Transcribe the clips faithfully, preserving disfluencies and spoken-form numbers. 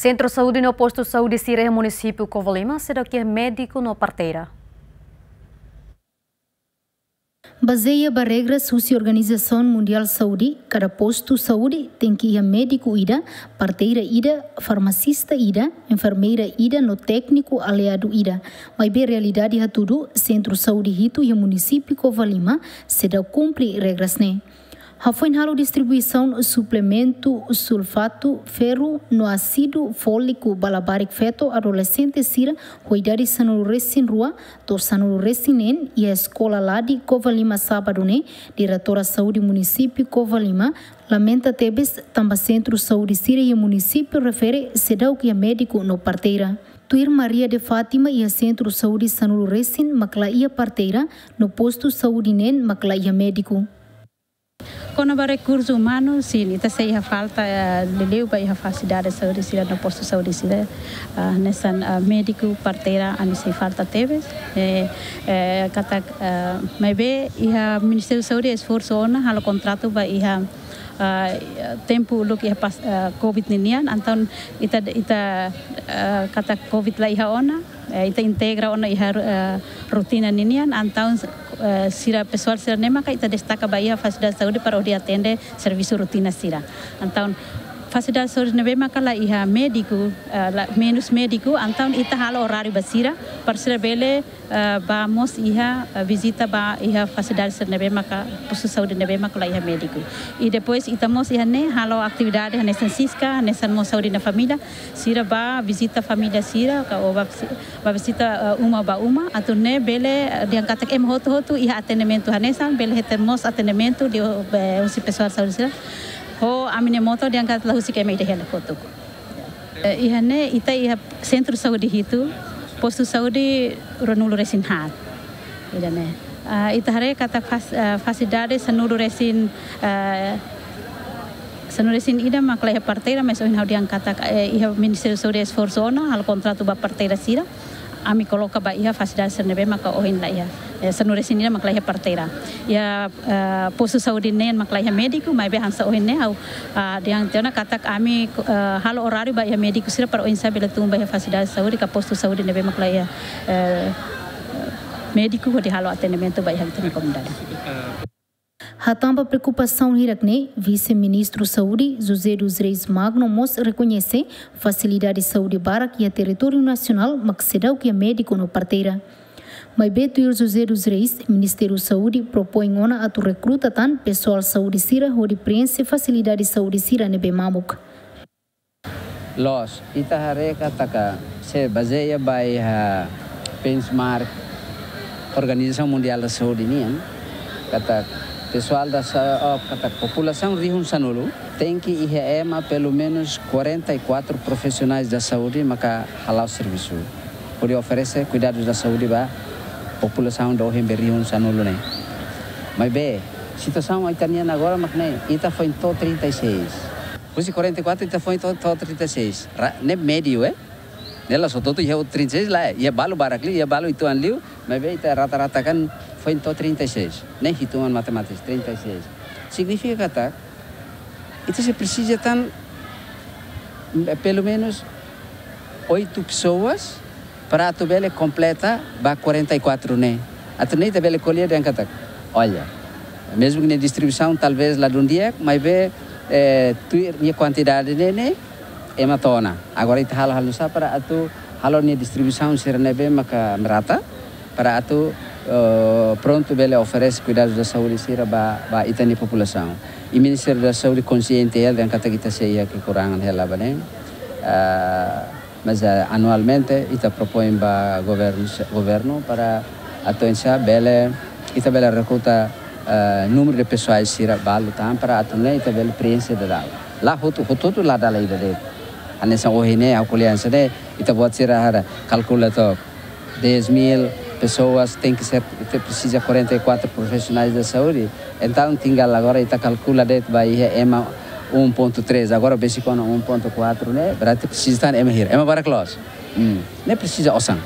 Sentru saúde no postu saúde sira iha munisípiu Covalima seidauk iha médiku no parteira. Bazeia ba regras husi Organizasaun Mundiál Saúde, kada postu saúde tenke iha médiku ida, parteira ida, farmasista ida, enfermeira ida no tékniku aliadu ida. Maibé realidade hatudu, sentru saúde hitu iha munisípiu Covalima seidauk kumpre regras ne'e. Hafoin halo distribuisaun suplementu sulfatu ferru no ásidu fóliku ba labarik feto adolexente sira ho idade sanulu-resin-rua to'o sanulu-resin-neen iha eskola Ladi Covalima sábadu ne'e, Diretora Saúde Munisípiu Covalima lamenta tebes tanba sentru saúde sira iha munisípiu refere seidauk iha médiku no parteira. Tuir Maria de Fátima, iha sentru saúde sanulu-resin mak la iha parteira, no postu saúde neen mak la iha médiku. Kona-ba rekursu umanu, sin, ita sei iha falta, eh, liuliu ba iha fasilidade saúde sira no postu saúde sira, ah, hanesan, ah, médiku, parteira, ami sei falta tebes. Eh, eh, katak, eh, maibé iha Ministériu Saúde esforsu ona halo kontratu ba iha, ah, tempu uluk iha pas, ah, covid ninian, entaun ita, ita, ah, katak covid la iha ona, eh, ita integra ona iha, eh, rotina ninian, entaun, eh, sira pesoál sira-ne'e maka ita destaka ba iha fasilidade saúde para hodi atende servisu rotina sira. Entaun fasilidade saúde ne'ebé maka la iha médiku, eh, la, menus médiku, entaun ita halo oráriu ba sira, para sira bele, eh, bá mós iha, eh, vizita ba iha fasilidade sira ne'ebé maka, postu saúde ne'ebé maka la iha médiku. I depois ita mós iha ne'e halo atividade hanesan SISCA, hanesan mós Saúde na Família, sira bá vizita família sira, ka, ou bá visi-, bá vizita, eh, uma ba uma, atu nune'e bele, eh, dehan katak ema hotu-hotu iha atendimentu hanesan, bele hetan mós atendimentu liu, eh, husi pesoál saúde sira. Ho ami-nia moto dehan katak la husik ema ida hela kotuk. Eh, iha ne'e ita iha sentru saúde hitu, postu saúde ruanulu-resin-haat. Ida-ne'e. Ah, ita haree katak fas-, ah, fasilidade sanulu-resin, ah, sanulu-resin-ida mak la iha parteira, mas ohin ha'u dehan katak, eh, iha Ministériu Saúde esforsu ona halo kontratu ba parteira sira. Ami koloka ba iha fasilidade sira ne'ebé maka ohin la iha. Eh, sanulu-resin-ida mak la iha parteira. Iha, eh, postu saúde neen mak la iha médiku, maibé hanesan ohin ne'e ha'u, ah, dehan tiha ona katak ami, eh, halo oráriu ba iha médiku sira para oinsá bele tun ba iha fasilidade saúde ka postu saúde ne'ebé mak la iha, eh, médiku hodi halo atendimentu ba iha ita-nia komunidade. Hatán ba preokupasaun hirak-ne'e, Vise-Ministru Saúde, José dos Reis Magno, mós rekoñese fasilidade saúde barak iha territóriu nasionál mak seidauk iha médiku no parteira. Maibé tuir José dos Reis, Ministériu Saúde propoin ona atu rekruta tan pesoál saúde sira hodi preenxe fasilidade saúde sira ne'ebé mamuk. Loos, ita haree katak se bazeia ba iha benchmark Organizasaun Mundiál da Saúde nian, katak pesoál da sa-, oh, katak populasaun rihun sanulu, tenke iha ema pelumenus quarenta e quatro profissionais da saúde maka hala'o servisu hodi oferese kuidadus da saúde ba populasaun doben be rihun sanulu ne'e. Maibé, situasaun ita-nian agora mak ne'e, ita foin to'o trinta e seis. Husi quarenta e quatro ita foin to'o, to'o trinta e seis. Ra-, ne'e médiu, eh? Ne'e la'ós hotu-hotu iha trinta e seis lae, iha balu barak liu, iha balu uitoan liu, maibé ita rata-ratakan foin to'o trinta e seis. Ne'e hitungan matemátika, trinta e seis. Signifika katak ita sei presiza tan, eh, pelumenus oito pessoas para atu bele kompleta ba quarenta e quatro ne'e. Atu nune'e ita bele ko'alia dehan katak, olha, mezmu ke nia distribuisaun talvés ladún di'ak, maibé, eh, tuir nia kuantidade ne'e, ne'e ema to'o ona. Agora ita halo, halo nu'usá para atu halo nia distribuisaun sira ne'ebé maka merata, para atu, eh, prontu bele oferese kuidadus da saúde sira ba, ba ita-nia populasaun. I Ministériu da Saúde konxiente hela dehan katak ita sei iha kekurangan hela ba ne'e. Ah, mas, eh, anualmente ita propoin ba governu, governu para atu oinsá bele, ita bele rekruta, eh, númeru de pesoál sira balu tan para atu nune'e ita bele preenxe daudaun. La hotu, hotu-hotu la dala ida de'it. Hanesan ohin ne'e, ha'u ko'alia hanesan ne'e, ita-boot sira haree, kalkula to'ok. Dez mil pessoas, tenke ser, ita presiza quarenta e quatro profissionais da saúde. Entaun, tinggal agora ita kalkula de'it ba iha ema um ponto três, agora besik ona um ponto quatro ne'e, berarti presiza tan ema hira. Ema barak loos. Hmm. Ne'e presiza osan.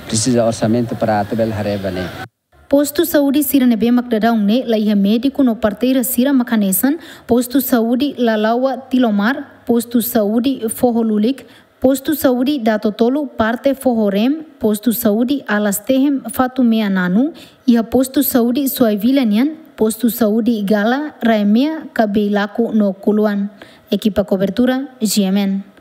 Presiza orsamentu para atu bele haree ba ne'e. Postu saúde sira ne'ebé mak daudaun ne'e la iha médiku no parteira sira mak hanesan, postu saúde Lalawa Tilomar, postu saúde Foho Lulik, Postu Saúde Datotolu parte Foho Rem, Postu Saúde Alastehem Fatumea Nanu, iha Postu Saúde Suaivila nian, Postu Saúde Gala, Raemea, Kabeilaku no Kuluan. Ekipa kobertura, G M N.